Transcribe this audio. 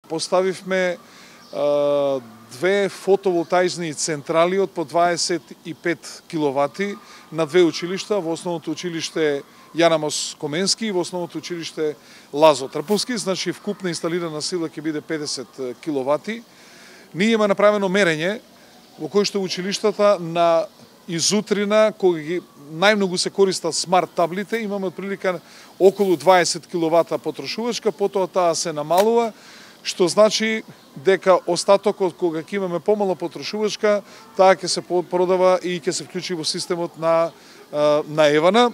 Поставивме две фотоволтаични централи од по 25 киловати на две училишта, во основното училиште Јан Амос Коменски и во основното училиште Лазо Трповски, значи вкупна инсталирана сила ќе биде 50 киловати. Ние има направено мерење во кој што училиштата на изутрина, кога ги најмногу се користат смарт таблите, имаме отприлика околу 20 киловата потрошувачка, потоа таа се намалува, што значи дека остатокот кога ќе имаме помало потрошувачка, таа ќе се продава и ќе се вклучи во системот на Евана.